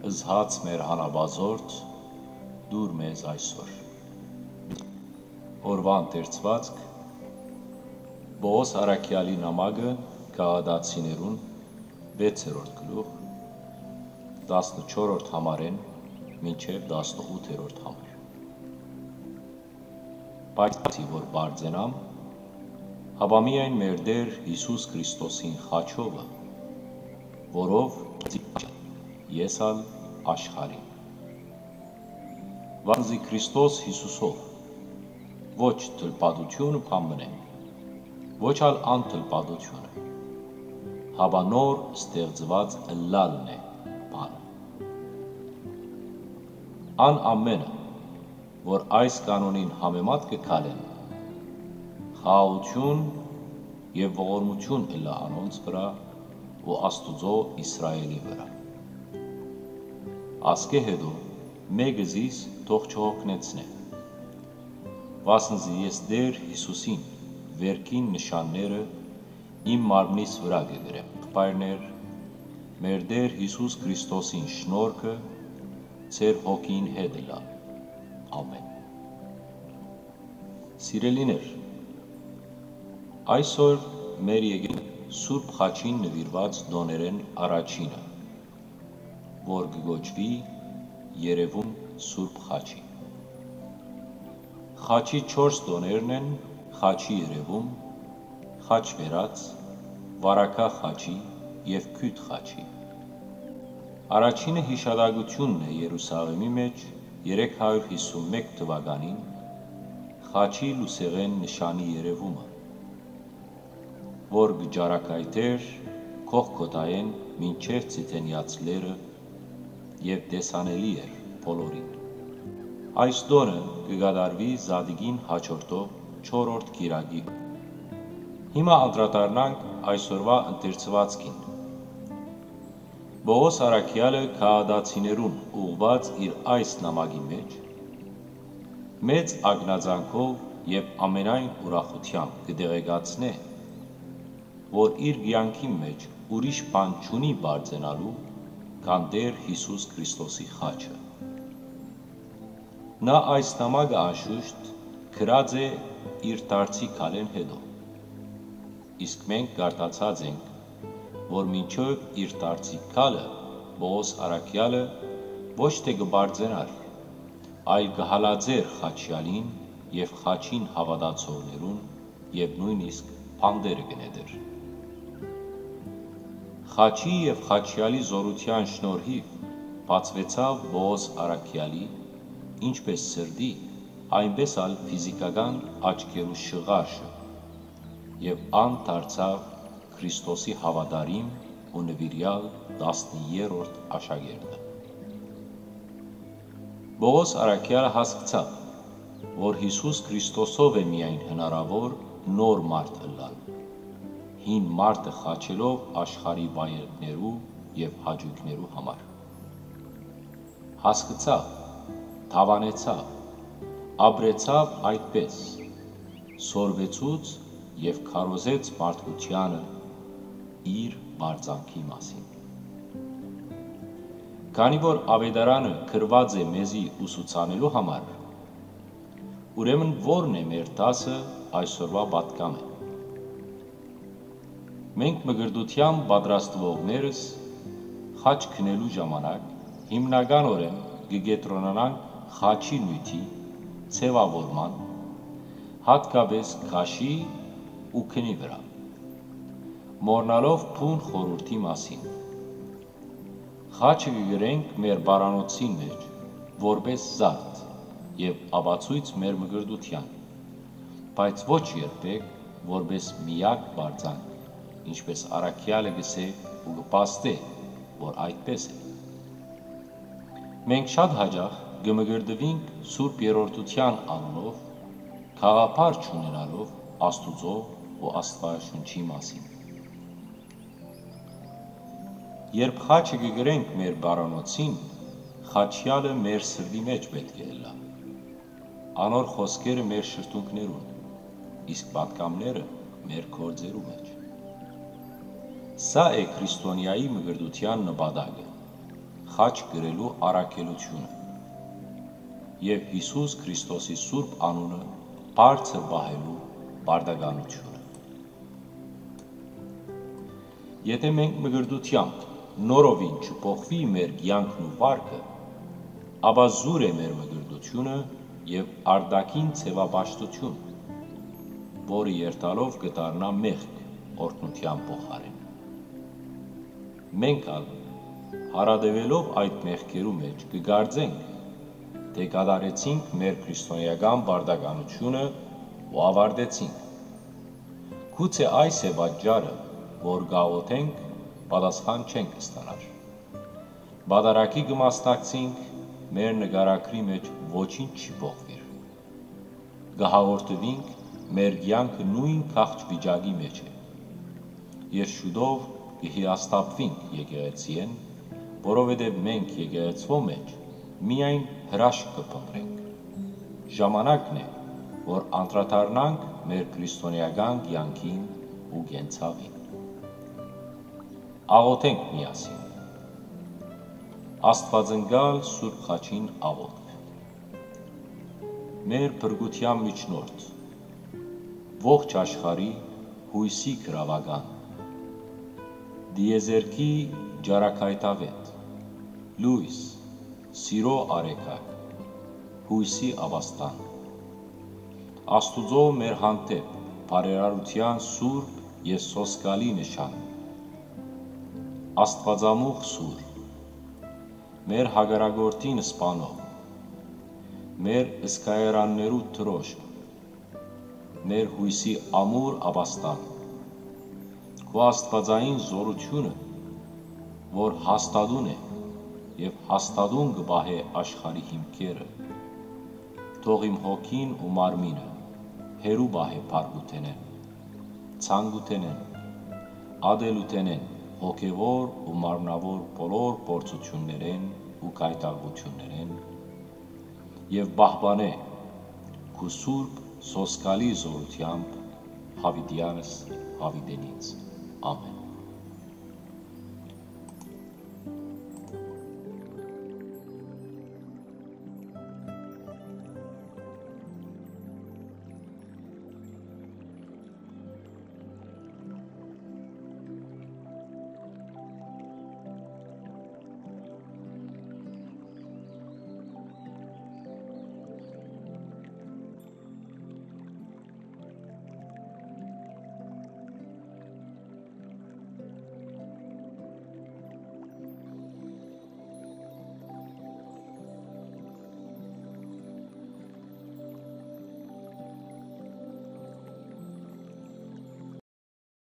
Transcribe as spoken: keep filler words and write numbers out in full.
Զհաց մեր հանապազորդ, տուր մեզ այսօր։ Օրուան դերձուածք, Պողոս Արաքեալի նամակը Գաղատացիներուն, վեցերորդ գլուխ, տասնչորրորդ համարէն մինչեւ տասնութերորդ համար։ Բայց որ պարծենամ, հապա միայն մեր Տէր Յիսուս Քրիստոսին խաչովը, որով ես ալ աշխարհին։ Վանզի Քրիստոս Յիսուսով, ոչ թլպատութիւնը բան մնե, ոչ ալ անթլպատութիւնը, հապա նոր ստեղծուած ըլլալն է բանը։ Ան ամէնը, որ այս կանոնին համեմատ կը քալեն, խաղաղութիւն եւ ողորմութիւն ըլլայ անոնց վրայ ու Աստուծոյ Իսրայէլի վրայ։ Ասկէ յետոյ մէկը զիս թող չյոգնեցնէ, վասն զի ես Տէր Յիսուսին վէրքին նշանները իմ մարմնիս վրայ կը կրեմ։ Եղբայրներ, մեր Տէր Յիսուս Քրիստոսին շնորհքը ձեր հոգին հետ ըլլայ։ Ամէն։ Սիրելիներ, այսօր մեր եկել Սուրբ Խաչին նուիրուած տօներէն առաջինը, որ կը կոչուի երեւում Սուրբ Խաչի։ Խաչի չորս տօներն են՝ խաչի երեւում, խաչվերած, վարագայ խաչի եւ քիւթ խաչի։ Առաջինը յիշատակութիւնն է Երուսաղէմի մէջ երեք հարիւր յիսուն մէկ թուականին խաչի լուսեղէն նշանի երեւումը, որ կը ճառագայթէր Գողգոթայէն մինչեւ Ձիթենեաց լեռը եւ տեսանելի էր բոլորին։ Այս տօնը կը կատարուի Զատիկին յաջորդող չորրորդ կիրակի։ Հիմա անդրադառնանք այսօրուայ ընթերցուածքին։ Պողոս առաքեալը գաղատացիներուն ուղղուած իր այս նամակի մէջ մեծ ակնածանքով եւ ամենայն ուրախութեամբ կը տեղեկացնէ, որ իր կեանքին մէջ ուրիշ բան չունի պարծենալու, քան Տէր Յիսուս Քրիստոսի խաչը։ Նա այս նամակը անշուշտ գրած է իր դարձի քալէն յետոյ, իսկ մենք կարդացած ենք, որ մինչեւ իր դարձի քալը Պողոս առաքեալը ոչ թէ կը պարծենար, այլ կը հալածէր խաչեալին եւ խաչին հաւատացողներուն եւ նոյնիսկ բանտերը կը նետէր։ Խաչի եւ խաչեալի զօրութեան շնորհիւ բացուեցաւ Պողոս առաքեալի ինչպէս սրտի, այնպէս ալ ֆիզիքական աչքերու շղարշը, եւ ան դարձաւ Քրիստոսի հաւատարիմ ու նուիրեալ տասներորդ աշակերտը։ Պողոս առաքեալը հասկցաւ, որ Յիսուս Քրիստոսով է միայն հնարաւոր նոր մարդ ըլլալ, հին մարդը խաչելով աշխարհի վայելքներու եւ հաճոյքներու համար։ Հասկցաւ, դաւանեցաւ, ապրեցաւ այդպէս, սորվեցուց եւ քարոզեց մարդկությանը իր պարծանքի մասին։ Քանի որ աւետարանը գրուած է մեզի ուսուցանելու համար, ուրեմն ո՞րն է մեր դասը այսօրուայ պատկամը։ Մենք մկրտութեան պատրաստուողներս խաչ գնելու ժամանակ հիմնականօրէն կը կեդրոնանանք խաչի նիւթի, ձեւաւորման, յատկապէս քաշի ու գնի վրայ, մոռնալով բուն խորհուրդի մասին։ Խաչը կը կրենք մեր պարանոցին մէջ, որպէս զարդ եւ ապացոյց մեր մկրտութեան, բայց ոչ երբեք որպէս միակ պարծանք, ինչպէս առաքեալը կ'ըսէ ու կը փաստէ, որ այդպէս է։ Մենք շատ յաճախ կը մկրտուինք Սուրբ Երրորդութեան անունով, գաղափար չունենալով Աստուծոյ ու Աստուածաշունչի մասին։ Երբ խաչը կը կրենք մեր պարանոցին, խաչեալը մեր սրտի մէջ պէտք է ըլլայ։ Անոր խօսքերը մեր շրթունքներուն, իսկ պատգամները մեր գործերու մէջ։ Սա է քրիստոնեայի մկրտութեան նպատակը։ հաճ կրելու առաքելութիւնը եւ Յիսուս Քրիստոսի սուրբ անունը բարձր պահելու պարտականութիւնը։ Եթէ մենք մկրտութեամբ նորովին չփոխուի մեր կեանքն ու վարքը, ապա զուր է մեր մկրտութիւնը եւ արտաքին ձեւապաշտութիւն, որը երթալով կը դառնայ մեղք օրհնութեան փոխարէն։ Մենք ալ, յարատեւելով այդ մեղքերու մէջ, կը կարծենք, թէ կատարեցինք մեր քրիստոնէական պարտականութիւնը ու աւարտեցինք։ Գուցե այս է պատճառը, որ կ'աղօթենք, պատասխան չենք ստանար։ Պատարագի կը մասնակցենք, մեր նկարագրի մէջ ոչինչ չի փոխուիր։ Կը հաղորդուինք, մեր կեանքը նոյն քաղց վիճակի մէջ է։ Եւ շուտով կը հիասթափուինք եկեղեցիէն, որովհետեւ մենք եկեղեցւոյ մէջ միայն հրաշք կը փնտռենք։ Ժամանակն է, որ անդրադառնանք մեր քրիստոնէական կեանքին ու կենցաղին։ Աղօթենք միասին։ Աստուածնկալ Սուրբ Խաչին աղօթք։ Մեր փրկութեան միջնորդ, ողջ աշխարհի յոյսի գրաւական, տիեզերքի ճառագայթաւէտ, լոյս, սիրո արեգակ, յոյսի ապաստան, Աստուծոյ մեր հանդէպ բարերարութեան սուրբ եւ սոսկալի նշան, Աստուածամուխ սուր, մեր հակառակորդին սպանող, մեր զգայարաններու դրոշմ, մեր յոյսի ամուր ապաստան, քու աստուածային զօրութիւնը, որ հաստատուն է եւ հաստատուն կը պահէ աշխարհի հիմքերը, թող իմ հոգին ու մարմինը հեռու պահէ բարկութենէն, ցանկութենէն, ատելութենէն, հոգեւոր ու մարմնաւոր բոլոր փորձութիւններէն ու գայթակղութիւններէն, եւ պահպանէ քու սուրբ սոսկալի զօրութեամբ, յաւիտեանս յաւիտենից։ Ամէն։